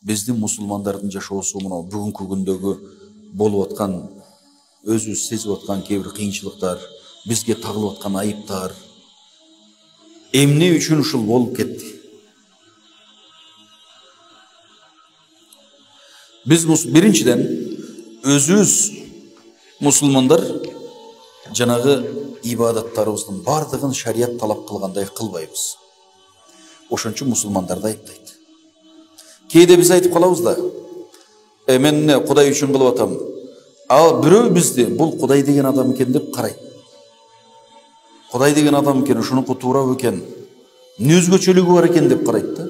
биздин мусулмандардын жашоосу мына бүгүнкү күндөгү болуп аткан өзүбүз сезип аткан кээ бир кыйынчылыктар, бизге тагылып аткан айыптар эмне үчүн ушул болуп кетти? Биз биринчиден өзүбүз мусулмандар жанагы ибадаттарыбыздын бардыгын шарият талап кылгандай кылбайбыз. Ошон үчүн мусулмандарды айыптайт. Кээде биз айтып калабыз да, мен Кудай үчүн кылып атам. Ал бирөө бизди бул Кудай деген адам экен деп карайт. Кудай деген адам экен, ушунуку туура экен, эмне өзгөчөлүгү бар экен деп карайт да.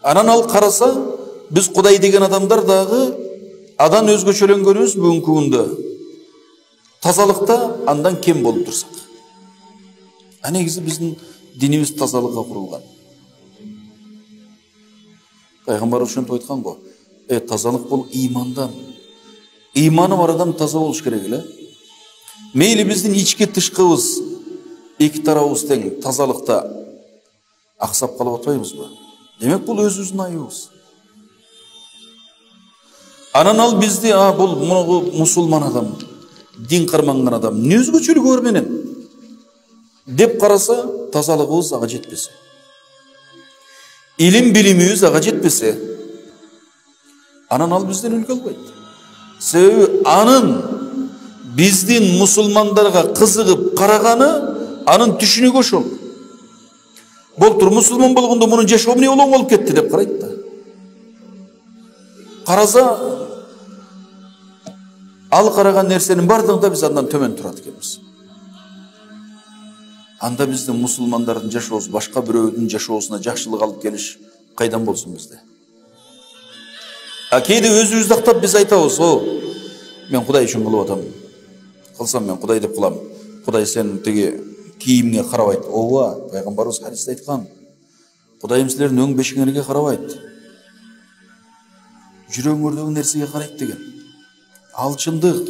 Анан ал караса, биз Кудай деген адамдар дагы адан өзгөчөлөнгөнүбүз бүгүнкү күндө тазалыкта андан кем болуп турсак. Негизи биздин динибиз тазалыкка курулган. Пайгамбар ошентип айткан го. Тазалык бул ыймандан. Ыйманы бар адам таза болуш керек эле. Мейли биздин ички тышкыбыз эки тарабыбыз тең тазалыкта аксап калып атпайбызбы? Демек бул өзүбүздүн айыбыбыз. Анан ал бизди бул мусулман адам, дин карманган адам, эмне өзгөчөлүгү бар менен деп караса, тазалыгыбыз ага жетпесе, илим билимибиз ага жетпесе, анан ал бизден үлгү албайт. Себеби анын биздин мусулмандарга кызыгып караганы анын түшүнүгү ошол. Болтур мусулман болгондо мунун жашоо эмне улам болуп кетти деп карайт да. Караса, ал караган нерсенин бардыгында биз андан төмөн турат экенбиз. Анда биздин мусулмандардын жашоосу башка бирөөдүн жашоосуна жакшылык алып келиш кайдан болсун бизде? Кээде өзүбүздү актап биз айтабыз, мен Кудай үчүн кылып атам. Кылсам мен Кудай деп кылам. Кудай сен тиги кийимиңе карабайт. Ооба, пайгамбарыбыз хадисте айткан. Кудайым силердин өң бешиңерге карабайт. Жүрөгүңөрдөгү нерсеге карайт деген. Ал чындык.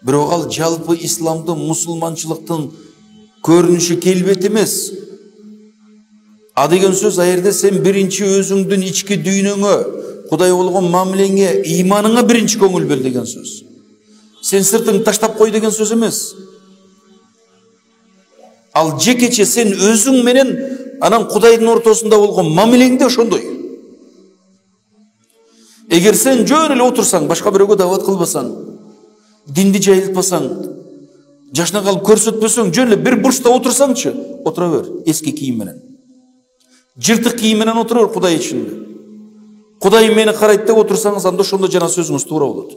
Бирок ал жалпы исламдын, мусулманчылыктын көрүнүшү келбети эмес. Деген сөз жерде сен биринчи өзүңдүн ички дүйнөңө, Кудай болгон мамилеңе, ыйманыңа биринчи көңүл бөл деген сөз. Сен сыртыңды таштап кой деген сөз эмес. Ал жекече сен өзүң менен анан Кудайдын ортосунда болгон мамилеңде ошондой. Эгер сен жөн эле отурсаң, башка бирөөгө дават кылбасаң, динди жайылтпасаң, жашына калып көрсөтпөсөң, жөн эле бир бурчта отурсаңчы, отура бер, эски кийим менен. Жыртык кийим менен отура бер Кудай ичинде. Кудай мени карайт деп отурсаңыз, анда ошондо жана сөзүңүз туура болот.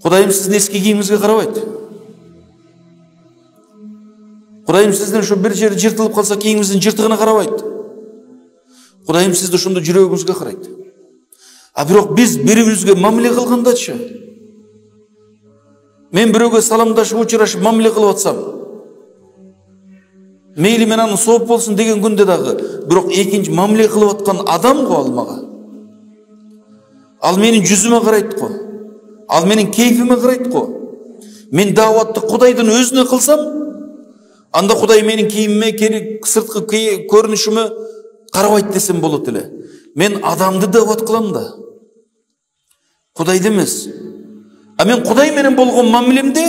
Кудайым сиздин эски кийимиңизге карабайт. Кудайым сиздин ошо бир жери жыртылып калса, кийимиңиздин жыртыгына карабайт. Кудайым сизди ошондо жүрөгүңүзгө карайт. Бирок биз бири-бирибизге мамиле кылгандачы, мен бирөөгө саламдашып, учурашып мамиле кылып атсам, мейли мен аны сооп болсун деген күндө дагы, бирок экинчи мамиле кылып аткан адам го ал мага. Ал менин жүзүмө карайт го. Ал менин кейфиме карайт го. Мен даватты Кудайдын өзүнө кылсам, анда Кудай менин кийимиме, сырткы көрүнүшүмө карабайт десем болот эле. Мен адамды дават кылам да, Кудайды эмес. Мен Кудай менен болгон мамилемде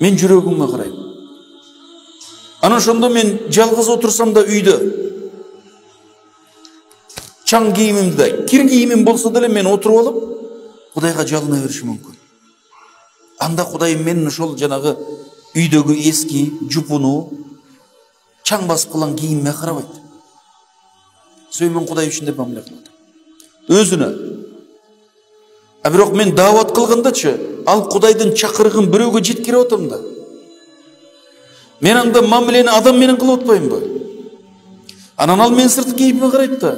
мен жүрөгүмө карайм. Анан ошондо мен жалгыз отурсам да үйдө, чаң кийимимде, кир кийимим болсо деле мен отуруп алып, Кудайга жалына беришим мүмкүн. Анда Кудай менин ошол жанагы үйдөгү эски, жупуну, чаң басып калган кийимиме карабайт. Себеби мен Кудай үчүн деп мамиле кылат. Өзүнө. Бирок мен дават кылгандачы, ал Кудайдын чакырыгын бирөөгө жеткирип атам да. Мен анда мамилени адам менен кылып атпаймынбы? Анан ал мен сырткы кийимиме карайт да.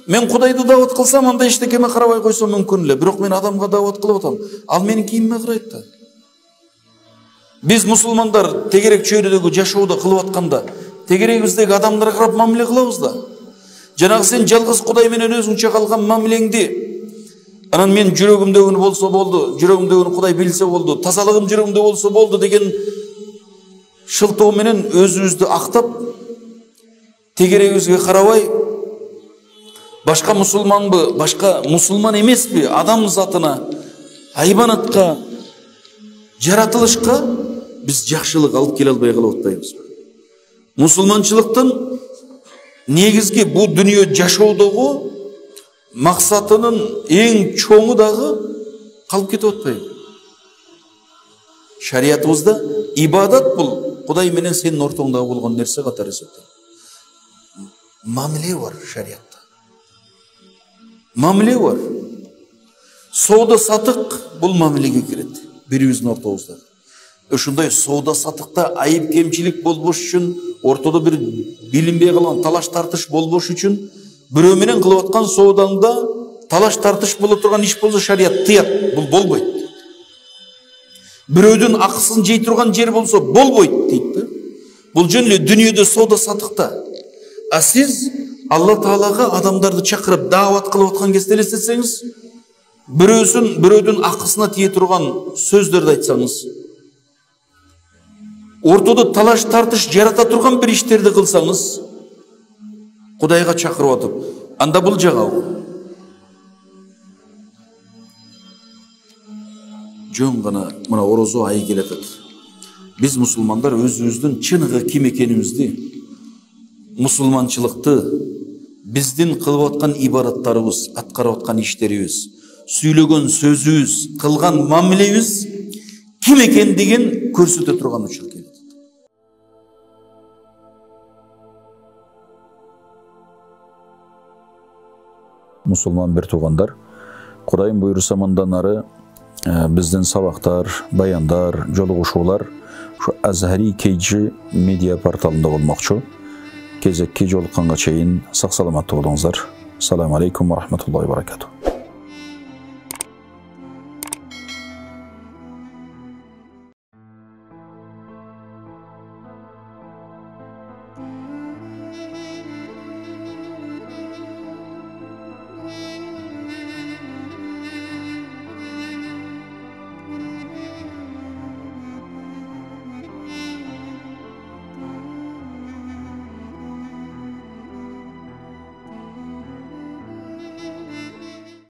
Мен Кудайды дават кылсам, анда эчтекеме карабай койсом мүмкүн эле. Бирок мен адамга дават кылып атам. Ал менин кийимиме карайт да. Биз мусулмандар тегерек чөйрөдөгү жашоодо кылып атканда, тегерегибиздеги адамдарга карап мамиле кылабыз да. Жанагы сен жалгыз Кудай менен өзүңчө калган мамилеңди, анан мен жүрөгүмдөгүнү болсо болду, жүрөгүмдөгүнү Кудай билсе болду, тазалыгым жүрөгүмдө болсо болду деген шылтоо менен өзүбүздү актап, тегерегибизге карабай, башка мусулманбы, башка мусулман эмеспи, адам затына, хайбанатка, жаратылышка биз жакшылык алып келе албай калып атпайбызбы? Мусулманчылыктын негизги бул дүнүйө жашоодогу максатынын эң чоңу дагы калып кетип атпайбы? Шариятыбызда ибадат бул Кудай менен сенин ортоңдагы болгон нерсе катары эсептелет. Мамиле бар шариятта. Мамиле бар. Соода сатык бул мамилеге кирет. Бирибиздин ортобузда. Ошондой соода сатыкта айып кемчилик болбош үчүн, ортодо бир билинбей калган талаш тартыш болбош үчүн, бирөө менен кылып аткан соодаңда талаш тартыш боло турган иш болсо шарият тыят. Бул болбойт. Бирөөдүн акысын жей турган жер болсо болбойт дейт да. Бул жөн эле дүнүйөдө соода сатыкта. А сиз Алла Таалага адамдарды чакырып даават кылып аткан кезде элестетсеңиз, бирөөдүн акысына тие турган сөздөрдү айтсаңыз, ортодо талаш тартыш жарата турган бир иштерди кылсаңыз, Кудайга чакырып атып, анда бул жагабы? Жөн гана мына орозо айы келатат. Биз мусулмандар өзүбүздүн чыныгы ким экенибизди, мусулманчылыкты, биздин кылып аткан ибадаттарыбыз, аткарып аткан иштерибиз, сүйлөгөн сөзүбүз, кылган мамилебиз ким экендигин көрсөтө турган учур келет. Мусулман бир туугандар, Кудайым буйруса мындан ары биздин сабактар, баяндар, жолугушуулар ушу Азхари KG медиа порталында болмокчу. Кезекке жолукканга чейин сак саламаттуу болуңуздар. Ассаламу алейкум ва рахматуллахи ва баракатух.